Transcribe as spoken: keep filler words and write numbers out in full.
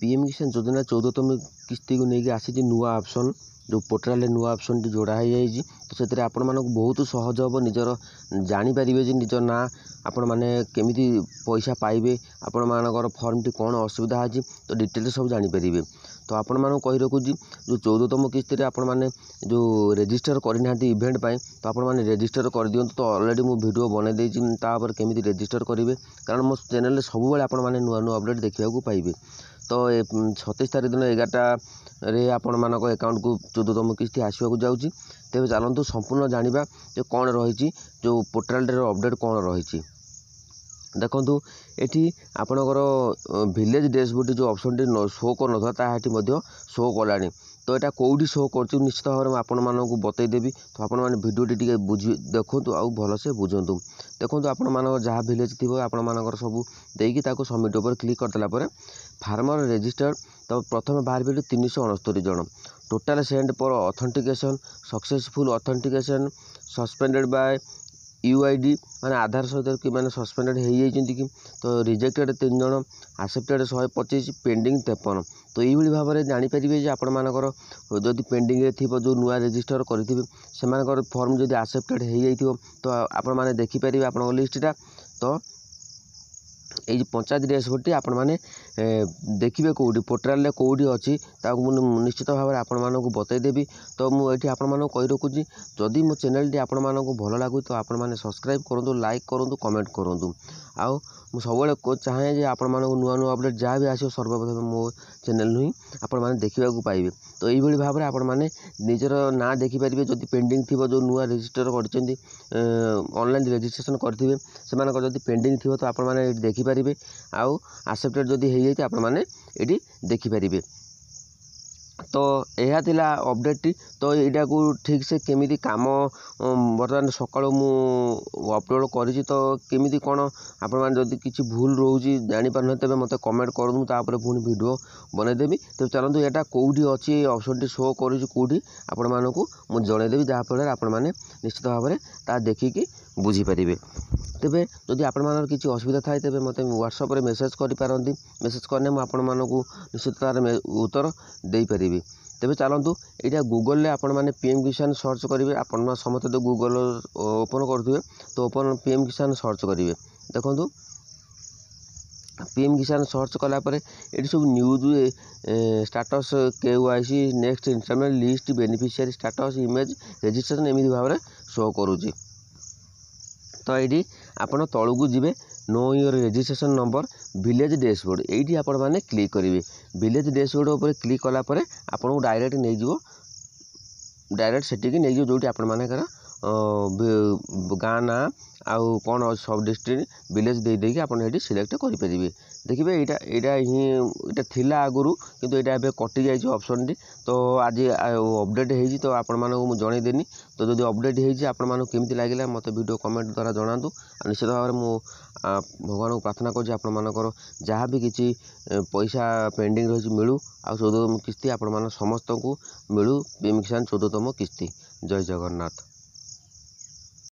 P M କିଷାନ ଯୋଜନା ଚଉଦତମ କିସ୍ତିକୁ ନେଇକି ଆସିଛି ନୂଆ ଅପସନ୍ ଯେଉଁ ପୋର୍ଟାଲରେ ନୂଆ ଅପସନ୍ଟି ଯୋଡ଼ା ହେଇଯାଇଛି ତ ସେଥିରେ ଆପଣମାନଙ୍କୁ ବହୁତ ସହଜ ହେବ ନିଜର ଜାଣିପାରିବେ ଯେ ନିଜ ନାଁ ଆପଣମାନେ କେମିତି ପଇସା ପାଇବେ ଆପଣମାନଙ୍କର ଫର୍ମଟି କ'ଣ ଅସୁବିଧା ଅଛି ତ ଡିଟେଲ୍ସ ସବୁ ଜାଣିପାରିବେ ତ ଆପଣମାନଙ୍କୁ କହି ରଖୁଛି ଯେଉଁ ଚଉଦତମ କିସ୍ତିରେ ଆପଣମାନେ ଯେଉଁ ରେଜିଷ୍ଟର କରିନାହାନ୍ତି ଇଭେଣ୍ଟ ପାଇଁ ତ ଆପଣମାନେ ରେଜିଷ୍ଟର କରିଦିଅନ୍ତୁ ତ ଅଲରେଡ଼ି ମୁଁ ଭିଡ଼ିଓ ବନେଇ ଦେଇଛି ତାପରେ କେମିତି ରେଜିଷ୍ଟର କରିବେ କାରଣ ମୋ ଚ୍ୟାନେଲରେ ସବୁବେଳେ ଆପଣମାନେ ନୂଆ ନୂଆ ଅପଡ଼େଟ୍ ଦେଖିବାକୁ ପାଇବେ ତ ସତେଇଶ ତାରିଖ ଦିନ ଏଗାରଟାରେ ଆପଣମାନଙ୍କ ଆକାଉଣ୍ଟକୁ ଚଉଦତମ କିସ୍ତି ଆସିବାକୁ ଯାଉଛି ତେବେ ଚାଲନ୍ତୁ ସମ୍ପୂର୍ଣ୍ଣ ଜାଣିବା ଯେ କ'ଣ ରହିଛି ଯେଉଁ ପୋର୍ଟାଲଟିର ଅପଡ଼େଟ୍ କ'ଣ ରହିଛି ଦେଖନ୍ତୁ ଏଠି ଆପଣଙ୍କର ଭିଲେଜ୍ ଡ୍ୟାସବୋର୍ଡ଼ଟି ଯେଉଁ ଅପସନ୍ଟି ଶୋ କରୁନଥିଲା ତାହା ଏଠି ମଧ୍ୟ ଶୋ କଲାଣି ତ ଏଇଟା କେଉଁଠି ଶୋ କରୁଛି ନିଶ୍ଚିତ ଭାବରେ ମୁଁ ଆପଣମାନଙ୍କୁ ବତେଇଦେବି ତ ଆପଣମାନେ ଭିଡ଼ିଓଟି ଟିକେ ବୁଝି ଦେଖନ୍ତୁ ଆଉ ଭଲସେ ବୁଝନ୍ତୁ ଦେଖନ୍ତୁ ଆପଣମାନଙ୍କର ଯାହା ଭିଲେଜ୍ ଥିବ ଆପଣମାନଙ୍କର ସବୁ ଦେଇକି ତାକୁ ସବମିଟ୍ ଉପରେ କ୍ଲିକ୍ କରିଦେଲା ପରେ ଫାର୍ମର ରେଜିଷ୍ଟର ତ ପ୍ରଥମେ ବାହାରିବ ଏଠି ତିନିଶହ ଅଣସ୍ତରୀ ଜଣ total send for authentication successful authentication suspended by U I D ମାନେ ଆଧାର ସହିତ କି ମାନେ ସସ୍ପେଣ୍ଡେଡ଼ ହେଇଯାଇଛନ୍ତି କି ତ ରିଜେକ୍ଟେଡ଼ ତିନି ଜଣ ଆକ୍ସେପ୍ଟେଡ଼ ଶହେ ପଚିଶ ପେଣ୍ଡିଂ ତେପନ ତ ଏଇଭଳି ଭାବରେ ଜାଣିପାରିବେ ଯେ ଆପଣମାନଙ୍କର ଯଦି ପେଣ୍ଡିଂରେ ଥିବ ଯେଉଁ ନୂଆ ରେଜିଷ୍ଟର କରିଥିବେ ସେମାନଙ୍କର ଫର୍ମ ଯଦି ଆକ୍ସେପ୍ଟେଡ଼ ହେଇଯାଇଥିବ ତ ଆପଣମାନେ ଦେଖିପାରିବେ ଆପଣଙ୍କ ଲିଷ୍ଟଟା ତ ଏଇ ପଞ୍ଚାୟତ ଡ୍ୟାସବୋର୍ଡ଼ଟି ଆପଣମାନେ ଦେଖିବେ କେଉଁଠି ପୋର୍ଟାଲରେ କେଉଁଠି ଅଛି ତାକୁ ମୁଁ ନିଶ୍ଚିତ ଭାବରେ ଆପଣମାନଙ୍କୁ ବତେଇଦେବି ତ ମୁଁ ଏଠି ଆପଣମାନଙ୍କୁ କହି ରଖୁଛି ଯଦି ମୋ ଚ୍ୟାନେଲଟି ଆପଣମାନଙ୍କୁ ଭଲ ଲାଗୁଛି ତ ଆପଣମାନେ ସବସ୍କ୍ରାଇବ୍ କରନ୍ତୁ ଲାଇକ୍ କରନ୍ତୁ କମେଣ୍ଟ କରନ୍ତୁ ଆଉ ମୁଁ ସବୁବେଳେ ଚାହେଁ ଯେ ଆପଣମାନଙ୍କୁ ନୂଆ ନୂଆ ଅପଡ଼େଟ୍ ଯାହା ବି ଆସିବ ସର୍ବପ୍ରଥମେ ମୋ ଚ୍ୟାନେଲରୁ ହିଁ ଆପଣମାନେ ଦେଖିବାକୁ ପାଇବେ ତ ଏଇଭଳି ଭାବରେ ଆପଣମାନେ ନିଜର ନାଁ ଦେଖିପାରିବେ ଯଦି ପେଣ୍ଡିଂ ଥିବ ଯେଉଁ ନୂଆ ରେଜିଷ୍ଟର କରିଛନ୍ତି ଅନଲାଇନ୍ ରେଜିଷ୍ଟ୍ରେସନ୍ କରିଥିବେ ସେମାନଙ୍କର ଯଦି ପେଣ୍ଡିଂ ଥିବ ତ ଆପଣମାନେ ଏଇଠି ଦେଖିପାରିବେ ଆଉ ଆକ୍ସେପ୍ଟେଡ଼ ଯଦି ହେଇଯାଇଛି ଆପଣମାନେ ଏଇଠି ଦେଖିପାରିବେ ତ ଏହା ଥିଲା ଅପଡ଼େଟ୍ଟି ତ ଏଇଟାକୁ ଠିକ୍ସେ କେମିତି କାମ ବର୍ତ୍ତମାନ ସକାଳୁ ମୁଁ ଅପଲୋଡ଼ କରିଛି ତ କେମିତି କ'ଣ ଆପଣମାନେ ଯଦି କିଛି ଭୁଲ ରହୁଛି ଜାଣିପାରୁନାହାନ୍ତି ତେବେ ମୋତେ କମେଣ୍ଟ କରନ୍ତୁ ମୁଁ ତାପରେ ପୁଣି ଭିଡ଼ିଓ ବନେଇଦେବି ତେବେ ଚାଲନ୍ତୁ ଏଇଟା କେଉଁଠି ଅଛି ଏ ଅପସନ୍ଟି ଶୋ କରୁଛି କେଉଁଠି ଆପଣମାନଙ୍କୁ ମୁଁ ଜଣେଇଦେବି ଯାହାଫଳରେ ଆପଣମାନେ ନିଶ୍ଚିତ ଭାବରେ ତାହା ଦେଖିକି ବୁଝିପାରିବେ ତେବେ ଯଦି ଆପଣମାନଙ୍କର କିଛି ଅସୁବିଧା ଥାଏ ତେବେ ମୋତେ ହ୍ୱାଟ୍ସଆପ୍ରେ ମେସେଜ୍ କରିପାରନ୍ତି ମେସେଜ୍ କଲେ ମୁଁ ଆପଣମାନଙ୍କୁ ନିଶ୍ଚିତ ତାର ଉତ୍ତର ଦେଇପାରିବି ତେବେ ଚାଲନ୍ତୁ ଏଇଟା ଗୁଗଲରେ ଆପଣମାନେ ପି ଏମ୍ କିଷାନ ସର୍ଚ୍ଚ କରିବେ ଆପଣ ସମସ୍ତେ ତ ଗୁଗଲ ଓପନ୍ କରୁଥିବେ ତ ଓପନ୍ ପି ଏମ୍ କିଷାନ ସର୍ଚ୍ଚ କରିବେ ଦେଖନ୍ତୁ ପି ଏମ୍ କିଷାନ ସର୍ଚ୍ଚ କଲା ପରେ ଏଠି ସବୁ news status K Y C next installment list beneficiary status image registration ଏମିତି ଭାବରେ ଶୋ କରୁଛି ତ ଏଇଠି ଆପଣ ତଳକୁ ଯିବେ know your registration number village dashboard ଏଇଠି ଆପଣମାନେ କ୍ଲିକ୍ କରିବେ ଭିଲେଜ୍ ଡ୍ୟାସବୋର୍ଡ଼ ଉପରେ କ୍ଲିକ୍ କଲା ପରେ ଆପଣଙ୍କୁ ଡାଇରେକ୍ଟ ନେଇଯିବ ଡାଇରେକ୍ଟ ସେଠିକି ନେଇଯିବ ଯେଉଁଠି ଆପଣମାନଙ୍କର ଗାଁ ନାଁ ଆଉ କ'ଣ ସବ୍ ଡିଷ୍ଟ୍ରିକ୍ଟ ଭିଲେଜ୍ ଦେଇ ଦେଇକି ଆପଣ ଏଠି ସିଲେକ୍ଟ କରିପାରିବେ ଦେଖିବେ ଏଇଟା ଏଇଟା ହିଁ ଏଇଟା ଥିଲା ଆଗରୁ କିନ୍ତୁ ଏଇଟା ଏବେ କଟିଯାଇଛି ଅପସନ୍ଟି ତ ଆଜି ଅପଡ଼େଟ୍ ହେଇଛି ତ ଆପଣମାନଙ୍କୁ ମୁଁ ଜଣେଇଦେନି ତ ଯଦି ଅପଡ଼େଟ୍ ହେଇଛି ଆପଣମାନଙ୍କୁ କେମିତି ଲାଗିଲା ମୋତେ ଭିଡ଼ିଓ କମେଣ୍ଟ ଦ୍ୱାରା ଜଣାନ୍ତୁ ଆଉ ନିଶ୍ଚିତ ଭାବରେ ମୁଁ ଭଗବାନଙ୍କୁ ପ୍ରାର୍ଥନା କରୁଛି ଆପଣମାନଙ୍କର ଯାହା ବି କିଛି ପଇସା ପେଣ୍ଡିଂ ରହିଛି ମିଳୁ ଆଉ ଚଉଦତମ କିସ୍ତି ଆପଣମାନ ସମସ୍ତଙ୍କୁ ମିଳୁ ପି ଏମ୍ କିଷାନ ଚଉଦତମ କିସ୍ତି ଜୟ ଜଗନ୍ନାଥ